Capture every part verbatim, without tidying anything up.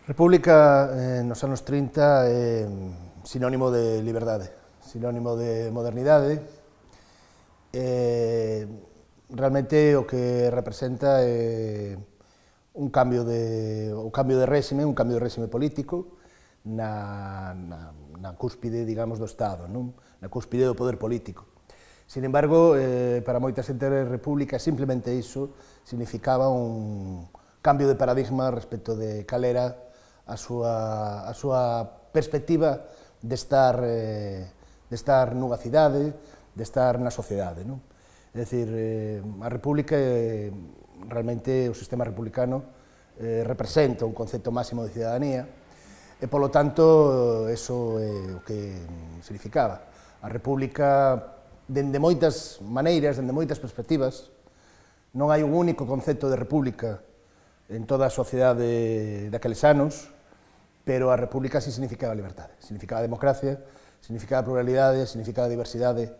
República eh, nos anos trinta é sinónimo de liberdade, sinónimo de modernidade. Eh, realmente o que representa é un cambio de, o cambio de réxime, un cambio de réxime político na, na, na cúspide, digamos, do Estado, non? Na cúspide do poder político. Sin embargo, eh, para moita xente a República simplemente iso significaba un cambio de paradigma respecto de cal era a súa, a súa perspectiva de estar, eh, de estar nunha cidade, de estar na sociedade, non? É dicir, eh, a República, eh, realmente o sistema republicano eh, representa un concepto máximo de cidadanía e, polo tanto, eso é o que significaba. A República, dende moitas maneiras, dende moitas perspectivas, non hai un único concepto de República en toda a sociedade daqueles anos, pero a República sí significaba liberdade, significaba democracia, significaba pluralidade, significaba diversidade,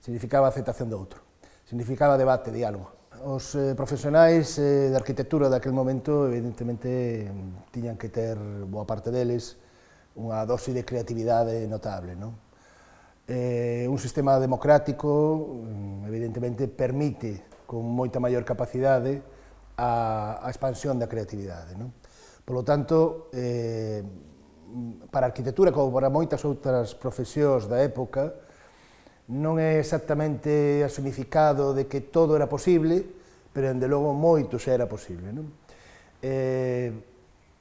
significaba aceptación do outro, significaba debate, diálogo. Os eh, profesionais eh, de arquitectura daquel momento, evidentemente, tiñan que ter, boa parte deles, unha dose de creatividade notable, non? Eh, un sistema democrático, evidentemente, permite, con moita maior capacidade, a, a expansión da creatividade, non? Polo tanto, eh, para a arquitectura, como para moitas outras profesións da época, non é exactamente o significado de que todo era posible, pero, dende logo, moito xa era posible, non? Eh,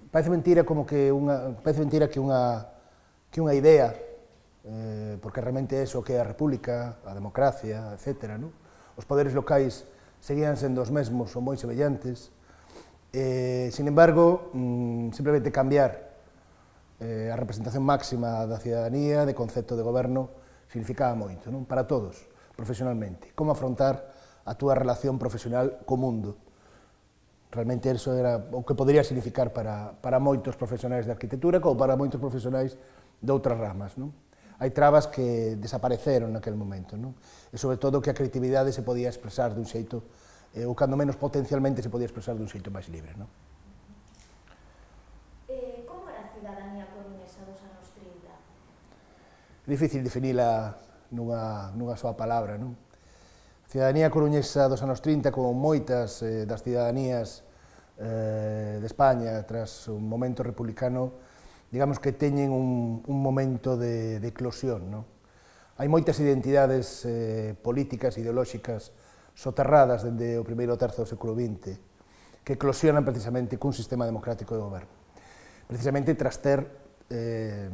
parece mentira como que unha, parece mentira que unha, que unha idea, eh, porque realmente é iso que é a República, a democracia, etcétera, non? Os poderes locais seguían sendo os mesmos ou moi semellantes. Eh, sin embargo, mm, simplemente cambiar eh, a representación máxima da cidadanía, de concepto de goberno, significaba moito, non? Para todos, profesionalmente. Como afrontar a túa relación profesional co mundo. Realmente eso era o que podría significar para, para moitos profesionais de arquitectura como para moitos profesionais de outras ramas, non? Hai trabas que desapareceron naquele momento, non? E sobre todo que a creatividade se podía expresar dun xeito, eh, ou cando menos potencialmente se podía expresar dun xeito máis libre, non? Eh, como era a cidadanía coruñesa dos anos trinta? É difícil definila nunha, nunha soa palabra, non? A cidadanía coruñesa dos anos trinta, como moitas eh, das cidadanías eh, de España tras un momento republicano, digamos que teñen un, un momento de, de eclosión, non? Hai moitas identidades eh, políticas, ideolóxicas, soterradas dende o primeiro terzo do século vinte, que eclosionan precisamente cun sistema democrático de goberno. Precisamente tras ter eh,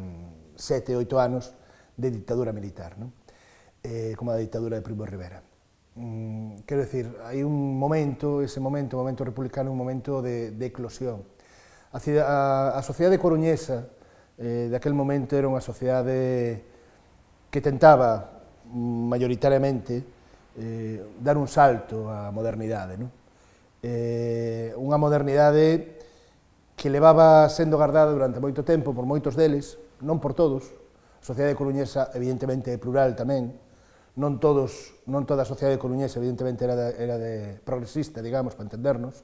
sete, oito anos de dictadura militar, non? Eh, como a dictadura de Primo de Rivera. Mm, quero dicir, hai un momento, ese momento, o momento republicano, un momento de, de eclosión. A, a, a sociedade coruñesa eh, daquel momento era unha sociedade que tentaba maioritariamente eh, dar un salto á modernidade, non? Eh, unha modernidade que levaba sendo gardada durante moito tempo por moitos deles, non por todos. A sociedade coruñesa evidentemente é plural tamén, non todos, non toda a sociedade coruñesa evidentemente era de, era de progresista, digamos, para entendernos,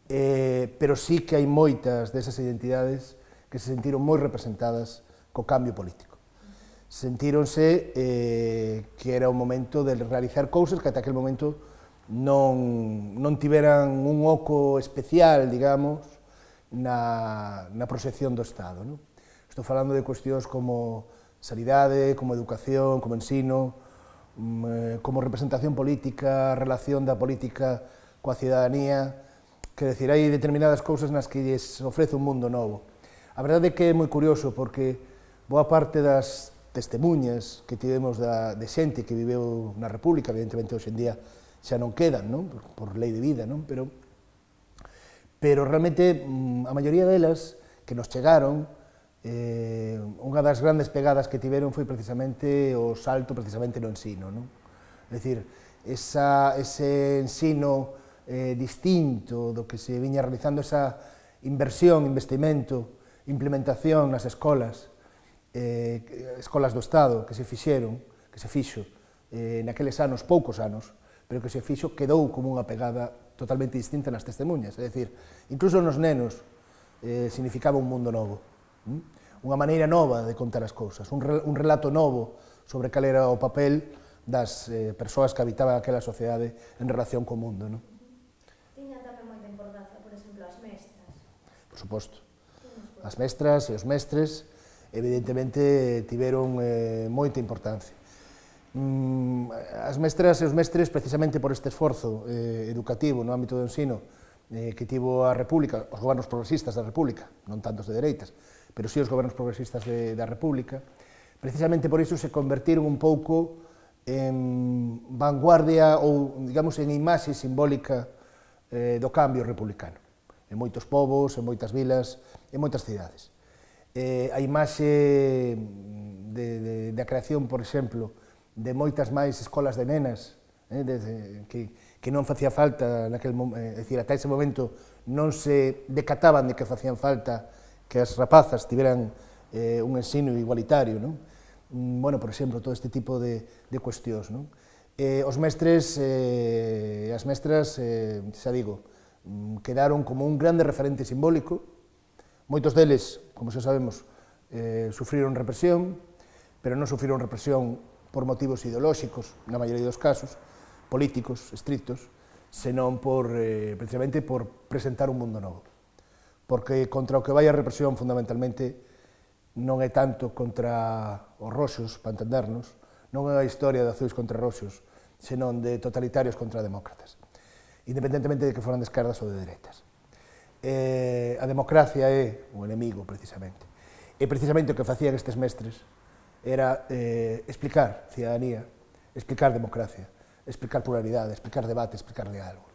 eh, pero sí que hai moitas desas identidades que se sentiron moi representadas co cambio político. Sentíronse eh, que era o momento de realizar cousas que ata aquel momento non, non tiveran un oco especial, digamos, na, na proxección do Estado, non? Estou falando de cuestións como sanidade, como educación, como ensino, como representación política, relación da política coa cidadanía. Quer decir, hai determinadas cousas nas que lles ofrece un mundo novo. A verdade é que é moi curioso, porque boa parte das testemunhas que tivemos da, de xente que viveu na República, evidentemente hoxe en día xa non quedan, non? Por, por lei de vida, non? Pero, pero realmente a maioría delas que nos chegaron, eh, unha das grandes pegadas que tiveron foi precisamente o salto precisamente no ensino, non? É dicir, esa, ese ensino eh, distinto do que se viña realizando, esa inversión, investimento, implementación nas escolas, eh, escolas do Estado que se fixeron, que se fixo eh, naqueles anos, poucos anos, pero que se fixo, quedou como unha pegada totalmente distinta nas testemunhas. É dicir, incluso nos nenos, eh, significaba un mundo novo, unha maneira nova de contar as cousas, un, re, un relato novo sobre cal era o papel das eh, persoas que habitaban aquela sociedade en relación co mundo. Non? Tiña tamén moita importancia, por exemplo, as mestras. Por suposto. As mestras e os mestres, evidentemente, tiveron eh, moita importancia. Mm, as mestras e os mestres, precisamente por este esforzo eh, educativo no ámbito do ensino eh, que tivo a República, os gobernos progresistas da República, non tantos de dereitas, pero sí os gobernos progresistas de, da República, precisamente por iso se convertiron un pouco en vanguardia ou, digamos, en imaxe simbólica eh, do cambio republicano, en moitos povos, en moitas vilas, en moitas cidades. Eh, a imaxe de, de, de a creación, por exemplo, de moitas máis escolas de nenas, eh, de, de, que, que non facía falta, naquel, eh, é dicir, ata ese momento non se decataban de que facían falta que as rapazas tiveran eh, un ensino igualitario, non? Bueno, por exemplo, todo este tipo de, de cuestións, non? Eh, os mestres e eh, as mestras, eh, xa digo, quedaron como un grande referente simbólico. Moitos deles, como xa sabemos, eh, sufriron represión, pero non sufriron represión por motivos ideolóxicos, na maioría dos casos, políticos, estrictos, senón por, eh, precisamente por presentar un mundo novo. Porque contra o que vai a represión, fundamentalmente, non é tanto contra os roxos, para entendernos, non é a historia de azuis contra roxos, senón de totalitarios contra demócratas, independentemente de que foran de esquerdas ou de dereitas. Eh, a democracia é o enemigo, precisamente. E precisamente o que facían estes mestres era eh, explicar cidadanía, explicar democracia, explicar pluralidade, explicar debate, explicar diálogo,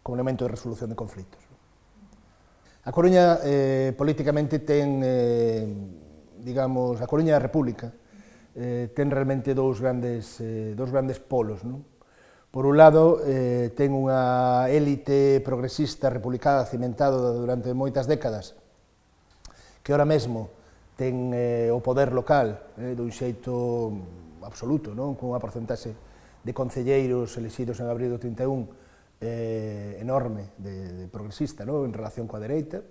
como elemento de resolución de conflitos. A Coruña, eh, políticamente, ten, eh, digamos, a Coruña da República, eh, ten realmente dous grandes, eh, dous grandes polos, non? Por un lado, eh, ten unha élite progresista republicana cimentada durante moitas décadas, que ahora mesmo ten eh, o poder local eh, dun xeito absoluto, non? Con unha porcentaxe de concelleiros elexidos en abril do trinta e un eh, enorme de, de progresista, non? En relación coa dereita.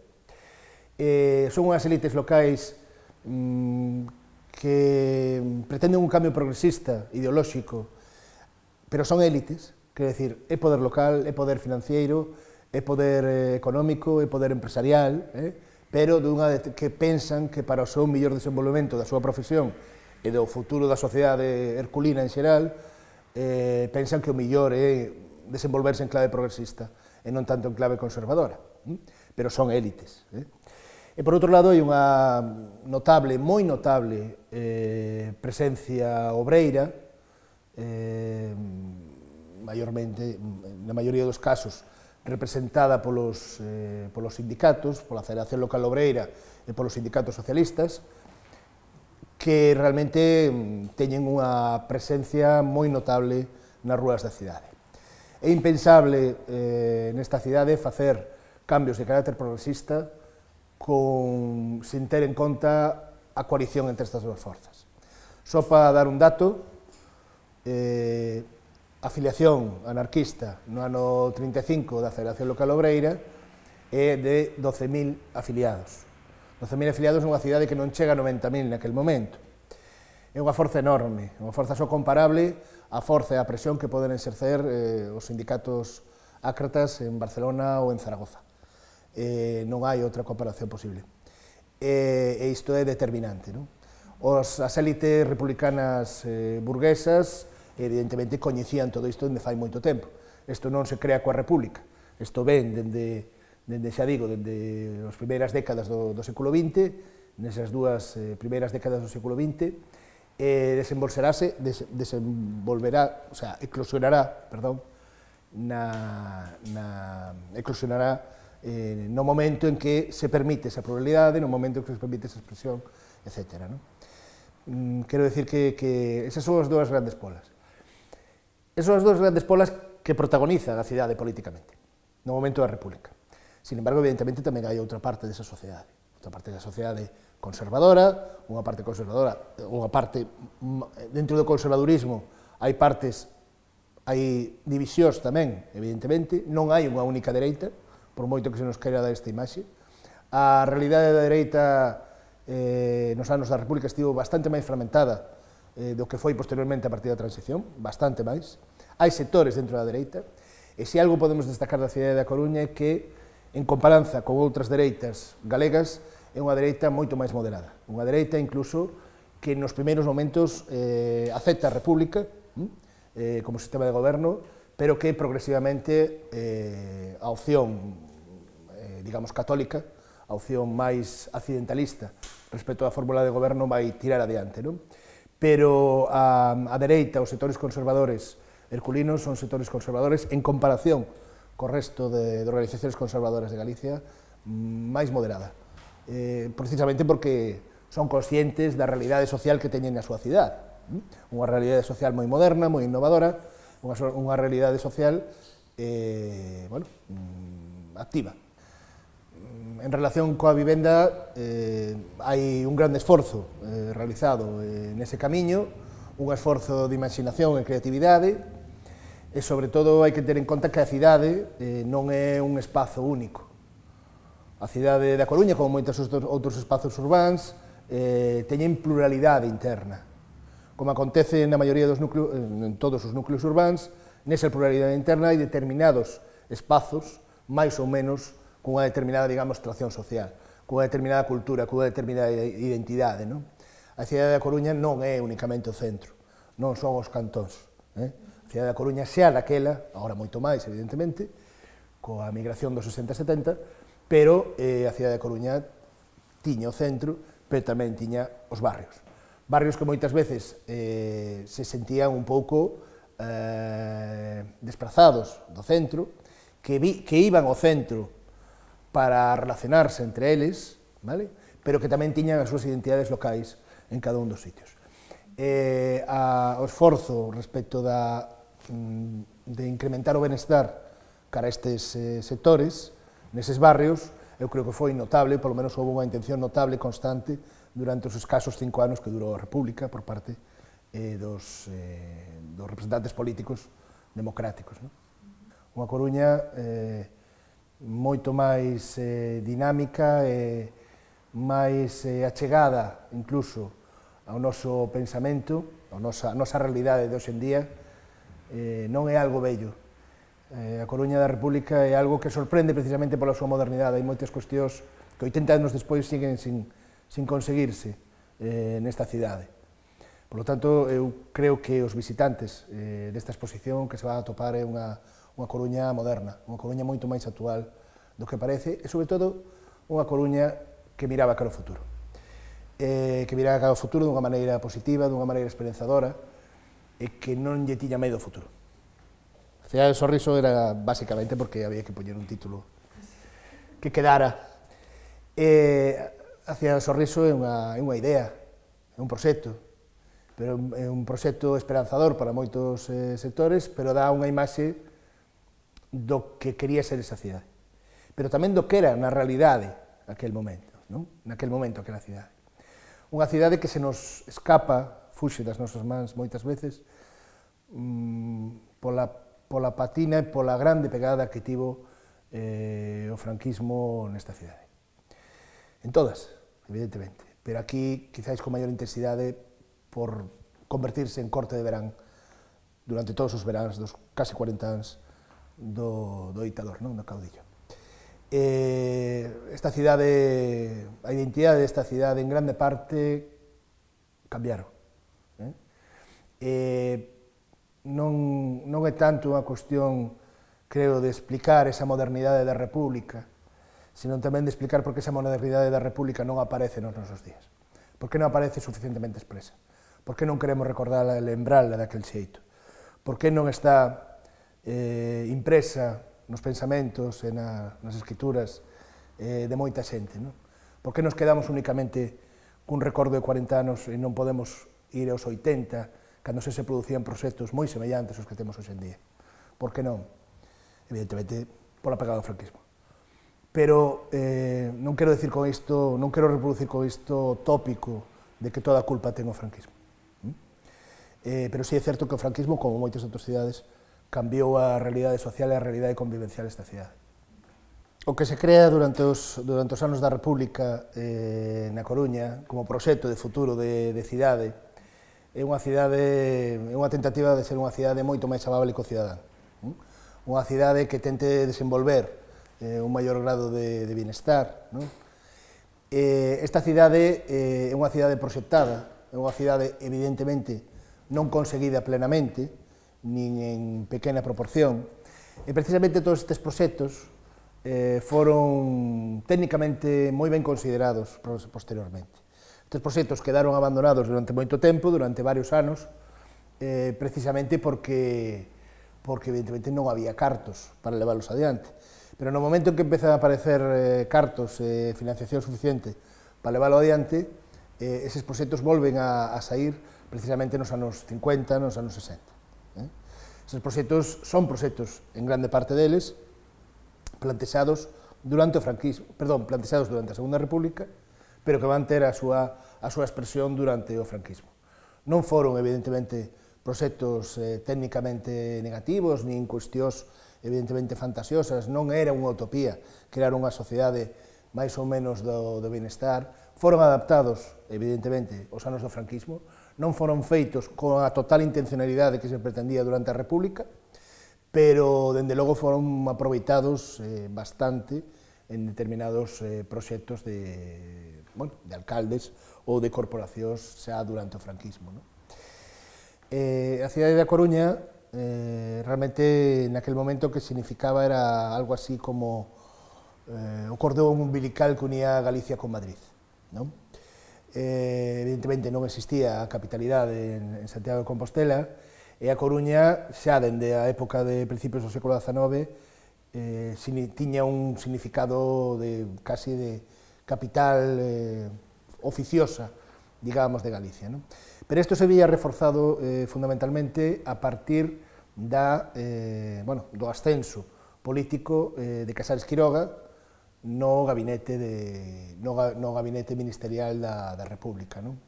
Eh, son unhas élites locais mmm, que pretenden un cambio progresista, ideolóxico, pero son élites, quer decir, é poder local, é poder financiero, é poder eh, económico, é poder empresarial, eh? pero dunha de, que pensan que para o seu mellor desenvolvemento da súa profesión e do futuro da sociedade herculina en xeral, eh, pensan que o mellor é desenvolverse en clave progresista e non tanto en clave conservadora, eh? pero son élites. Eh? E por outro lado, hai unha notable, moi notable, eh, presencia obreira, eh, maiormente, na maioría dos casos, representada polos, eh, polos sindicatos, pola Federación Local Obreira e polos sindicatos socialistas, que realmente teñen unha presencia moi notable nas rúas da cidade. É impensable eh, nesta cidade facer cambios de carácter progresista con, sin ter en conta a coalición entre estas dúas forzas. Só para dar un dato, eh, a afiliación anarquista no ano trinta e cinco da Federación Local Obreira é de doce mil afiliados. doce mil afiliados nunha cidade que non chega a noventa mil naquel momento. É unha forza enorme, unha forza só comparable á forza e á presión que poden exercer eh, os sindicatos ácratas en Barcelona ou en Zaragoza. Eh, non hai outra comparación posible. E, e isto é determinante, non? Os, as élites republicanas eh, burguesas evidentemente coñecían todo isto dende fai moito tempo. Isto non se crea coa República, isto ven dende, dende xa digo, dende as primeiras décadas do, do século vinte, nesas dúas eh, primeiras décadas do século vinte, eh, desenvolverase, des, desenvolverá, o sea, eclosionará, perdón, na, na, eclosionará eh, no momento en que se permite esa pluralidade, no momento en que se permite esa expresión, etcétera, non? Mm, quero decir que, que esas son as dúas grandes polas. Esas son as dúas grandes polas que protagonizan a cidade políticamente, no momento da República. Sin embargo, evidentemente, tamén hai outra parte desa sociedade, outra parte da sociedade conservadora, unha parte conservadora, unha parte, dentro do conservadurismo, hai partes, hai divisións tamén, evidentemente, non hai unha única dereita, por moito que se nos queira dar esta imaxe, A realidade da dereita eh, nos anos da República estivo bastante máis fragmentada eh, do que foi posteriormente a partir da transición, bastante máis. Hai sectores dentro da dereita, e se algo podemos destacar da cidade da Coruña é que, en comparanza con outras dereitas galegas, é unha dereita moito máis moderada. Unha dereita, incluso, que nos primeiros momentos eh, acepta a República eh, como sistema de goberno, pero que progresivamente eh, a opción, eh, digamos, católica, a opción máis accidentalista respecto á fórmula de goberno vai tirar adiante, non? Pero a, a dereita, os sectores conservadores herculinos son sectores conservadores en comparación co resto de, de organizacións conservadoras de Galicia máis moderada, eh, precisamente porque son conscientes da realidade social que teñen na súa cidade, unha realidade social moi moderna, moi innovadora, unha, unha realidade social eh, bueno, activa. En relación coa vivenda, eh, hai un grande esforzo eh, realizado eh, nese camiño, un esforzo de imaginación e creatividade, e, sobre todo, hai que ter en conta que a cidade eh, non é un espazo único. A cidade da Coruña, como moitos outros espazos urbáns, eh, teñen pluralidade interna. Como acontece na maioría dos núcleos, en todos os núcleos urbáns, nesa pluralidade interna hai determinados espazos, máis ou menos, cunha determinada, digamos, tracción social, cunha determinada cultura, cunha determinada identidade, non? A cidade da Coruña non é únicamente o centro, non son os cantóns, eh? A cidade da Coruña xa daquela, agora moito máis, evidentemente, coa migración dos sesenta e setenta, pero eh, a cidade da Coruña tiña o centro, pero tamén tiña os barrios. Barrios que moitas veces eh, se sentían un pouco eh, desprazados do centro, que, vi, que iban ao centro para relacionarse entre eles, vale? Pero que tamén tiñan as súas identidades locais en cada un dos sitios. Eh, a, o esforzo respecto da, de incrementar o benestar cara a estes eh, sectores, neses barrios, eu creo que foi notable, polo menos houve unha intención notable, constante, durante os escasos cinco anos que durou a República por parte eh, dos, eh, dos representantes políticos democráticos. Non? Unha Coruña eh, moito máis eh, dinámica e máis eh, achegada, incluso, ao noso pensamento, a nosa, a nosa realidade de hoxe en día, eh, non é algo bello. Eh, a Coruña da República é algo que sorprende precisamente pola súa modernidade. Hai moitas cuestións que oitenta anos despois siguen sin, sin conseguirse eh, nesta cidade. Por lo tanto, eu creo que os visitantes eh, desta exposición que se van a topar é unha unha Coruña moderna, unha Coruña moito máis actual do que parece, e, sobre todo, unha Coruña que miraba cara ao futuro. Eh, que miraba cara ao futuro dunha maneira positiva, dunha maneira esperanzadora, e que non lle tiña medo ao futuro. A cidade do sorriso era basicamente porque había que poñer un título que quedara. Eh, a cidade do sorriso é unha, é unha idea, é un proxecto, pero é un proxecto esperanzador para moitos eh, sectores, pero dá unha imaxe do que quería ser esa cidade, pero tamén do que era na realidade naquel momento, non? Naquel momento aquela cidade. Unha cidade que se nos escapa, fuxe das nosas mans moitas veces, mmm, pola, pola patina e pola grande pegada que tivo eh, o franquismo nesta cidade. En todas, evidentemente, pero aquí quizáis con maior intensidade por convertirse en corte de verán durante todos os veráns dos casi cuarenta anos do, do ditador, non? Do caudillo. Eh, esta cidade, a identidade desta cidade en grande parte cambiaron. Eh? Eh, non, non é tanto unha cuestión, creo, de explicar esa modernidade da República, sino tamén de explicar por que esa modernidade da República non aparece nos nosos días. Por que non aparece suficientemente expresa? Por que non queremos recordarla e lembrarla daquel xeito? Por que non está eh, impresa nos pensamentos e na, nas escrituras eh, de moita xente, non? Por que nos quedamos únicamente cun recordo de cuarenta anos e non podemos ir aos oitenta, cando se se producían proxectos moi semellantes aos que temos hoxe en día? Por que non? Evidentemente, pola pegada do franquismo. Pero eh, non quero decir con isto, non quero reproducir con isto tópico de que toda a culpa ten o franquismo. ¿Mm? Eh, pero sí é certo que o franquismo, como moitas outras cidades, cambiou a realidade social e a realidade convivencial desta cidade. O que se crea durante os, durante os anos da República eh, na Coruña como proxecto de futuro de, de cidade é unha cidade, é unha tentativa de ser unha cidade moito máis amable co cidadán. Unha cidade que tente desenvolver eh, un maior grado de, de bienestar. Non? Eh, esta cidade eh, é unha cidade proxectada, é unha cidade evidentemente non conseguida plenamente, nin en pequena proporción, e precisamente todos estes proxectos eh, foron técnicamente moi ben considerados posteriormente. Estes proxectos quedaron abandonados durante moito tempo, durante varios anos, eh, precisamente porque, porque evidentemente non había cartos para leválos adiante. Pero no momento en que empezan a aparecer eh, cartos e eh, financiación suficiente para leválo adiante, eh, eses proxectos volven a, a sair precisamente nos anos cincuenta, nos anos sesenta. Eh? Eses proxectos son proxectos, en grande parte deles, plantexados durante o franquismo, perdón, plantexados durante a Segunda República, pero que van ter a súa, a súa expresión durante o franquismo. Non foron, evidentemente, proxectos eh, técnicamente negativos, nin cuestións, evidentemente, fantasiosas, non era unha utopía crear unha sociedade máis ou menos do, do bienestar, foron adaptados, evidentemente, aos anos do franquismo, non foron feitos con a total intencionalidade que se pretendía durante a República, pero, dende logo, foron aproveitados eh, bastante en determinados eh, proxectos de, bueno, de alcaldes ou de corporacións xa durante o franquismo. No? Eh, a cidade da Coruña, eh, realmente, naquel momento, que significaba era algo así como eh, o cordón umbilical que unía Galicia con Madrid. No? Eh, evidentemente non existía a capitalidade en, en Santiago de Compostela, e a Coruña, xa dende a época de principios do século dezanove, eh, tiña un significado de casi de capital eh, oficiosa, digamos, de Galicia. ¿No? Pero isto se veía reforzado eh, fundamentalmente a partir da, eh, bueno, do ascenso político eh, de Casares Quiroga no gabinete, de, no, no gabinete ministerial da, da República. ¿No?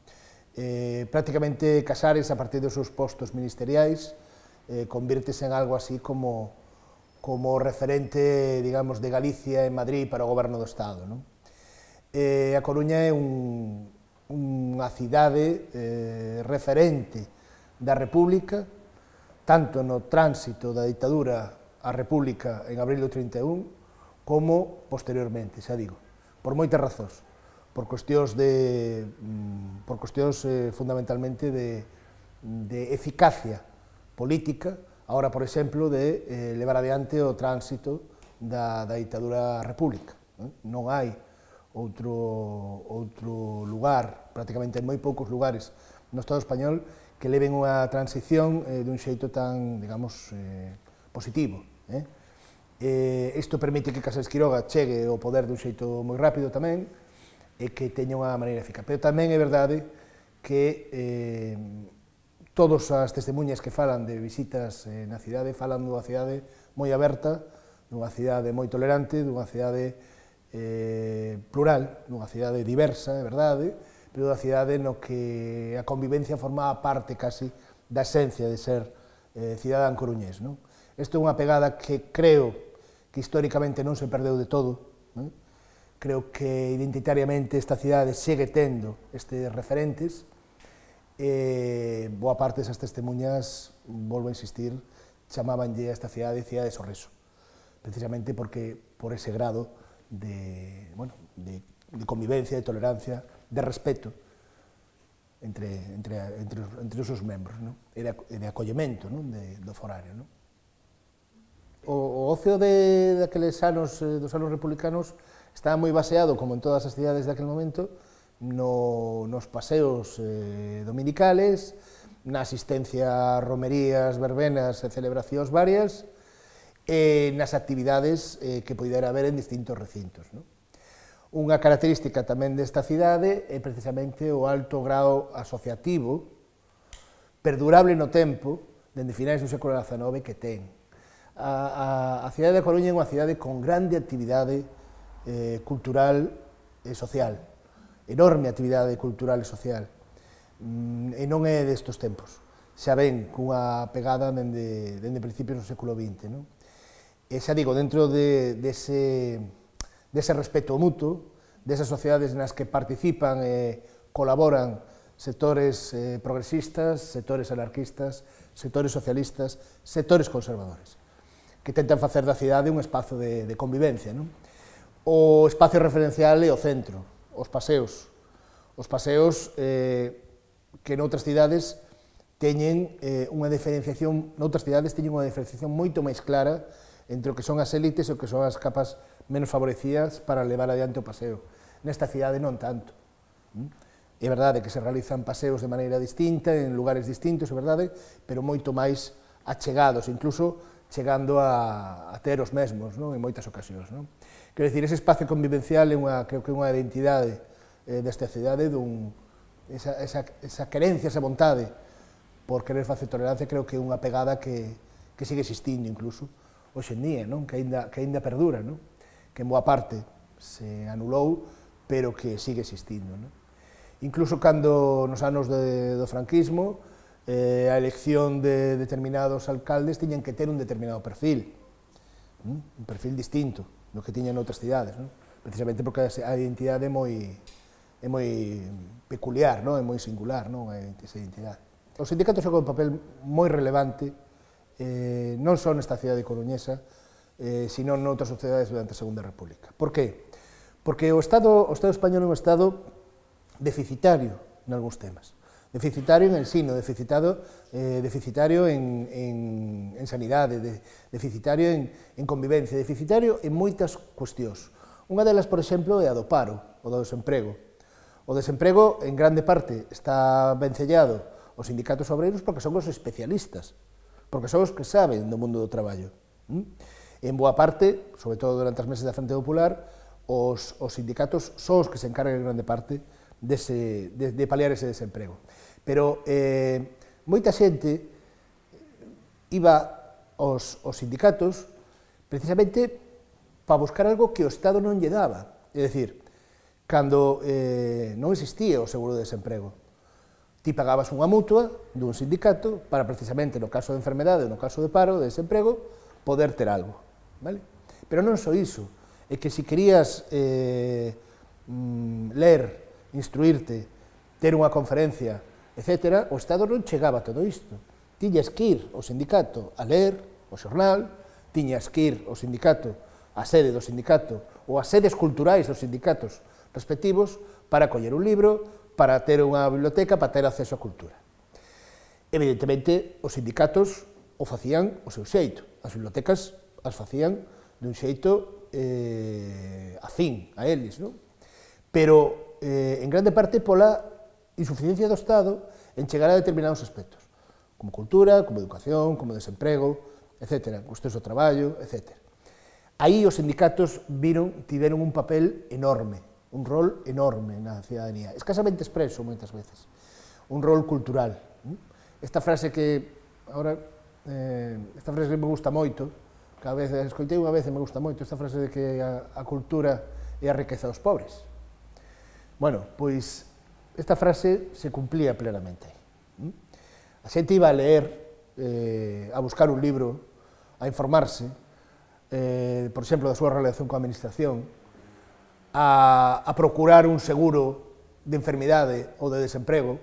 Eh, prácticamente Casares, a partir dos seus postos ministeriais, eh, convírtese en algo así como, como referente, digamos, de Galicia en Madrid para o goberno do Estado. ¿No? Eh, a Coruña é un, unha cidade eh, referente da República, tanto no tránsito da ditadura á República en abril do trinta e un, como posteriormente, xa digo, por moitas razóns. por cuestións de por cuestións eh, fundamentalmente de, de eficacia política, agora, por exemplo, de eh, levar adiante o tránsito da, da ditadura república. Non, non hai outro, outro lugar, prácticamente en moi poucos lugares no Estado español, que leven unha transición eh, dun xeito tan, digamos, eh, positivo. Eh? Eh, isto permite que Casares Quiroga chegue ao poder dun xeito moi rápido tamén, e que teña unha maneira eficaz. Pero tamén é verdade que eh, todas as testemunhas que falan de visitas eh, na cidade falan dunha cidade moi aberta, dunha cidade moi tolerante, dunha cidade eh, plural, dunha cidade diversa, é verdade, pero dunha cidade no que a convivencia formaba parte casi da esencia de ser eh, cidadán coruñés. Non? Isto é unha pegada que creo que históricamente non se perdeu de todo, non? Creo que identitariamente esta cidade segue tendo estes referentes, e boa parte desas testemunhas, volvo a insistir, chamabanlle a esta cidade cidade de sorriso, precisamente porque por ese grado de, bueno, de, de convivencia, de tolerancia, de respeto entre, entre, entre, entre os seus membros, non? E, de, e de acollemento, non? De, do forario. Non? O, o ocio de, daqueles anos, dos anos republicanos, estaba moi baseado, como en todas as cidades daquel momento, no, nos paseos eh, dominicales, na asistencia a romerías, verbenas e celebracións varias, e nas actividades eh, que poidera haber en distintos recintos. Non? Unha característica tamén desta cidade é precisamente o alto grao asociativo, perdurable no tempo, dende finais do século dezanove, que ten. A, a, a cidade de Coruña é unha cidade con grande actividade Eh, cultural e social, enorme actividade cultural e social, mm, e non é destos tempos, xa ven cunha pegada dende, dende principios do século vinte. Non? E xa digo, dentro de, dese, dese respeto mutuo, desas sociedades nas que participan e colaboran sectores eh, progresistas, sectores anarquistas, sectores socialistas, sectores conservadores, que tentan facer da cidade un espazo de, de convivencia. Non? O espacio referencial é o centro, os paseos. Os paseos eh, que noutras cidades teñen eh, unha diferenciación, noutras cidades teñen unha diferenciación moito máis clara entre o que son as élites e o que son as capas menos favorecidas para levar adiante o paseo. Nesta cidade non tanto. É verdade que se realizan paseos de maneira distinta, en lugares distintos, é verdade, pero moito máis achegados, incluso chegando a, a ter os mesmos, non? En moitas ocasións. Non? Quero dicir, ese espacio convivencial é unha, creo que é unha identidade eh, desta cidade, dun, esa, esa, esa querencia, esa vontade por querer facer tolerancia, creo que é unha pegada que, que sigue existindo incluso hoxe en día, non? Que, ainda, que ainda perdura, non? Que en boa parte se anulou, pero que sigue existindo. Non? Incluso cando nos anos de, do franquismo, eh, a elección de determinados alcaldes tiñan que ter un determinado perfil, ¿no? Un perfil distinto do que tiñan outras cidades, ¿no? Precisamente porque a identidade é moi, é moi peculiar, ¿no? É moi singular, ¿no? Esa identidade. Os sindicatos xogan un papel moi relevante, eh, non só nesta cidade coruñesa, eh, sino noutras sociedades durante a Segunda República. Por que? Porque o Estado, o Estado español é un Estado deficitario en algúns temas, deficitario en ensino, deficitario, eh, deficitario en, en, en sanidade, de, deficitario en, en convivencia, deficitario en moitas cuestións. Unha delas, por exemplo, é a do paro, o do desemprego. O desemprego, en grande parte, está vencellado aos sindicatos obreiros porque son os especialistas, porque son os que saben do mundo do traballo. En boa parte, sobre todo durante as meses da Frente Popular, os, os sindicatos son os que se encargan en grande parte Dese, de, de paliar ese desemprego. Pero eh, moita xente iba aos, aos sindicatos precisamente para buscar algo que o Estado non lle daba. É dicir, cando eh, non existía o seguro de desemprego, ti pagabas unha mutua dun sindicato para precisamente no caso de enfermedade ou no caso de paro, de desemprego, poder ter algo. Vale? Pero non só iso, é que se querías eh, mm, ler, instruirte, ter unha conferencia, etcétera, o Estado non chegaba a todo isto. Tiñas que ir ao sindicato a ler o xornal, tiñas que ir ao sindicato, á sede do sindicato, ou ás sedes culturais dos sindicatos respectivos, para coller un libro, para ter unha biblioteca, para ter acceso á cultura. Evidentemente, os sindicatos o facían o seu xeito, as bibliotecas as facían dun xeito eh, afín a eles, non? Pero Eh, en grande parte pola insuficiencia do Estado en chegar a determinados aspectos, como cultura, como educación, como desemprego, etcétera, cuestións do traballo, etcétera. Aí os sindicatos viron, tiveron un papel enorme, un rol enorme na cidadanía, escasamente expreso moitas veces, un rol cultural. Esta frase que, ahora, eh, esta frase que me gusta moito, cada vez, escoitei unha vez e me gusta moito, esta frase de que a, a cultura é a riqueza dos pobres. Bueno, pois esta frase se cumplía plenamente aí. A xente iba a leer, eh, a buscar un libro, a informarse, eh, por exemplo, da súa relación coa administración, a, a procurar un seguro de enfermidade ou de desemprego,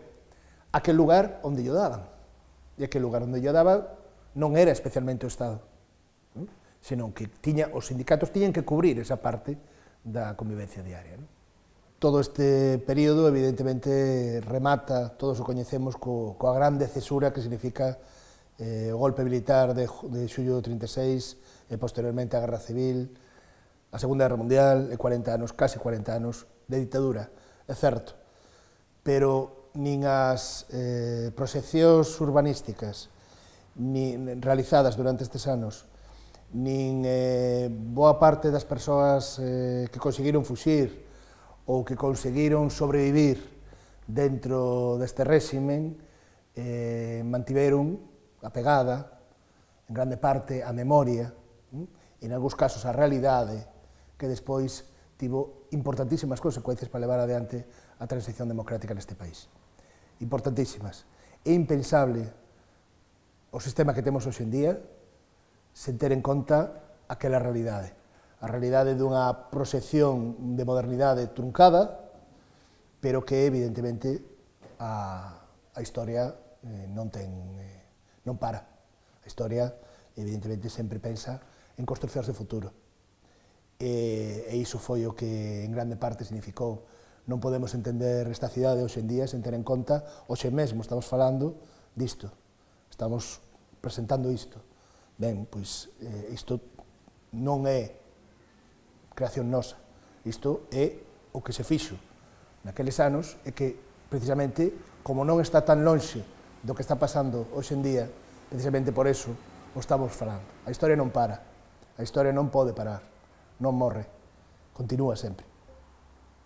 aquel lugar onde lle daban. E aquel lugar onde lle daban non era especialmente o Estado, senón que tiña, os sindicatos tiñan que cubrir esa parte da convivencia diaria. Non? Todo este período, evidentemente, remata, todos o coñecemos, co, coa grande cesura que significa eh, o golpe militar de, de xullo do trinta e seis e posteriormente a Guerra Civil, a Segunda Guerra Mundial e cuarenta anos, case cuarenta anos de ditadura, é certo, pero nin as eh, proxeccións urbanísticas nin realizadas durante estes anos, nin eh, boa parte das persoas eh, que conseguiron fuxir ou que conseguiron sobrevivir dentro deste réximen, eh, mantiveron a pegada, en grande parte, a memoria, e en algúns casos a realidade, que despois tivo importantísimas consecuencias para levar adiante a transición democrática neste país. Importantísimas. É impensable o sistema que temos hoxe en día sen ter en conta aquela realidade. a realidade dunha proxección de modernidade truncada, pero que, evidentemente, a, a historia eh, non ten, eh, non para. A historia, evidentemente, sempre pensa en construcións de futuro. E, e iso foi o que, en grande parte, significou. Non podemos entender esta cidade hoxe en día sen ter en conta, hoxe mesmo estamos falando disto, estamos presentando isto. Ben, pois, eh, isto non é creación nosa, isto é o que se fixo naqueles anos e que, precisamente, como non está tan lonxe do que está pasando hoxe en día, precisamente por eso o estamos falando. A historia non para, a historia non pode parar, non morre, continúa sempre.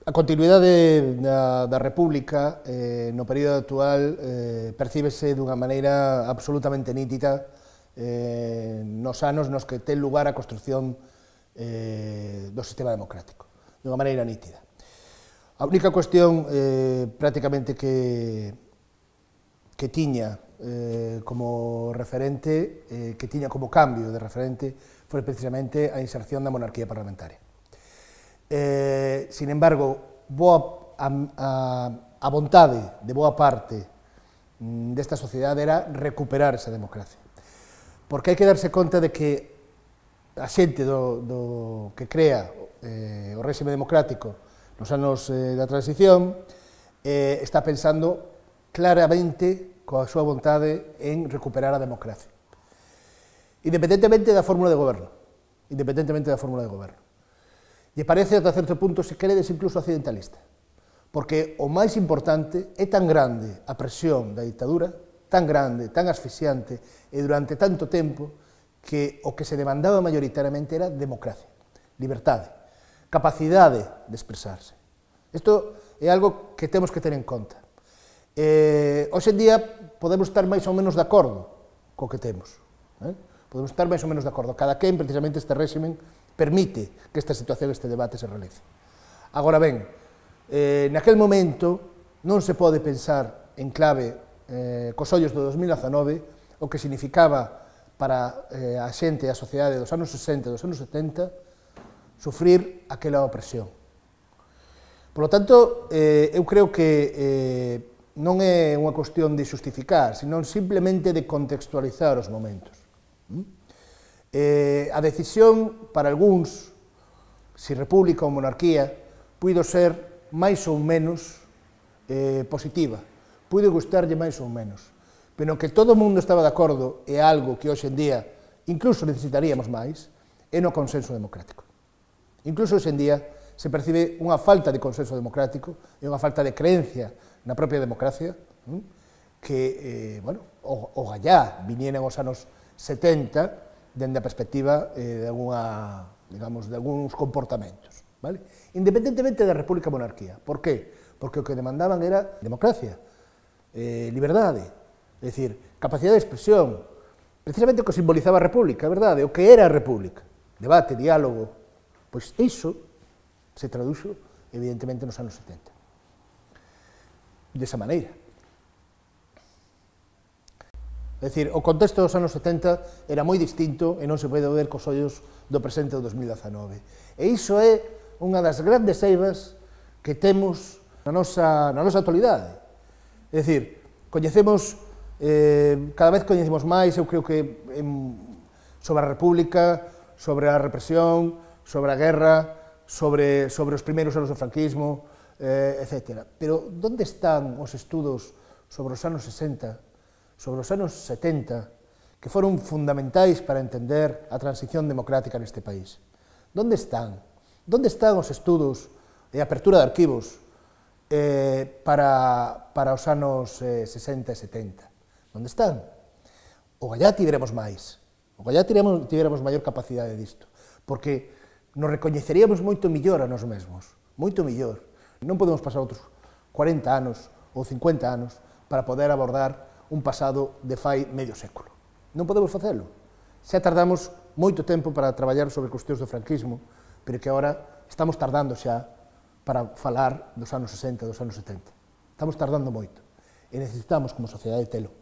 A continuidade da, da República eh, no período actual eh, percíbese dunha maneira absolutamente nítida eh, nos anos nos que ten lugar a construción eh, do sistema democrático, dunha maneira nítida. A única cuestión eh, prácticamente que, que tiña eh, como referente, eh, que tiña como cambio de referente, foi precisamente a inserción da monarquía parlamentaria. Eh, sin embargo, boa, a, a, a vontade de boa parte mm, desta sociedade era recuperar esa democracia. Porque hai que darse conta de que a xente do, do, que crea eh, o réxime democrático nos anos eh, da transición eh, está pensando claramente coa súa vontade en recuperar a democracia. Independentemente da fórmula de goberno. Independentemente da fórmula de goberno. E parece, ata certo punto, se queredes, incluso accidentalista, porque o máis importante é tan grande a presión da ditadura, tan grande, tan asfixiante, e durante tanto tempo, que o que se demandaba maioritariamente era democracia, liberdade, capacidade de expresarse. Isto é algo que temos que ter en conta. Eh, hoxe en día podemos estar máis ou menos de acordo co que temos, eh? Podemos estar máis ou menos de acordo. Cada quen, precisamente, este réximen permite que esta situación, este debate se realice. Agora ben, eh, naquel momento non se pode pensar en clave eh, cos ollos do dos mil dezanove o que significaba para eh, a xente e a sociedade dos anos sesenta e dos anos setenta sufrir aquela opresión. Por lo tanto, eh, eu creo que eh, non é unha cuestión de xustificar, sino simplemente de contextualizar os momentos. ¿Mm? Eh, a decisión, para algúns, se república ou monarquía, puido ser máis ou menos eh, positiva, puido gustarlle máis ou menos, pero que todo o mundo estaba de acordo é algo que hoxe en día incluso necesitaríamos máis, é no consenso democrático. Incluso hoxe en día se percibe unha falta de consenso democrático e unha falta de creencia na propia democracia, que, eh, bueno, o, o gallá vinieran os anos setenta, dende a perspectiva eh, de, alguna, digamos, de algúns comportamentos. Vale? Independentemente da república monarquía. Por qué? Porque o que demandaban era democracia, eh, liberdade, é dicir, capacidade de expresión, precisamente o que simbolizaba a república, é verdade, o que era a república, debate, diálogo, pois iso se traduxo, evidentemente, nos anos setenta. Desa maneira. É dicir, o contexto dos anos setenta era moi distinto e non se pode ver cos ollos do presente do dos mil dezanove. E iso é unha das grandes eivas que temos na nosa, na nosa actualidade. É dicir, coñecemos, eh, cada vez coñecemos máis, eu creo que en, sobre a República, sobre a represión, sobre a guerra, sobre, sobre os primeiros anos do franquismo, eh, etcétera. Pero onde están os estudos sobre os anos sesenta, sobre os anos setenta, que foron fundamentais para entender a transición democrática neste país? Donde están? Donde están os estudos e a apertura de arquivos eh, para, para os anos eh, sesenta e setenta? Donde están? O gallá tiveremos máis, o gallá tiveremos, tiveremos maior capacidade disto, porque nos recoñeceríamos moito millor a nós mesmos, moito millor. Non podemos pasar outros cuarenta anos ou cincuenta anos para poder abordar un pasado de fai medio século. Non podemos facelo. Xa tardamos moito tempo para traballar sobre cuestións do franquismo, pero que agora estamos tardando xa para falar dos anos sesenta, dos anos setenta. Estamos tardando moito e necesitamos como sociedade telo.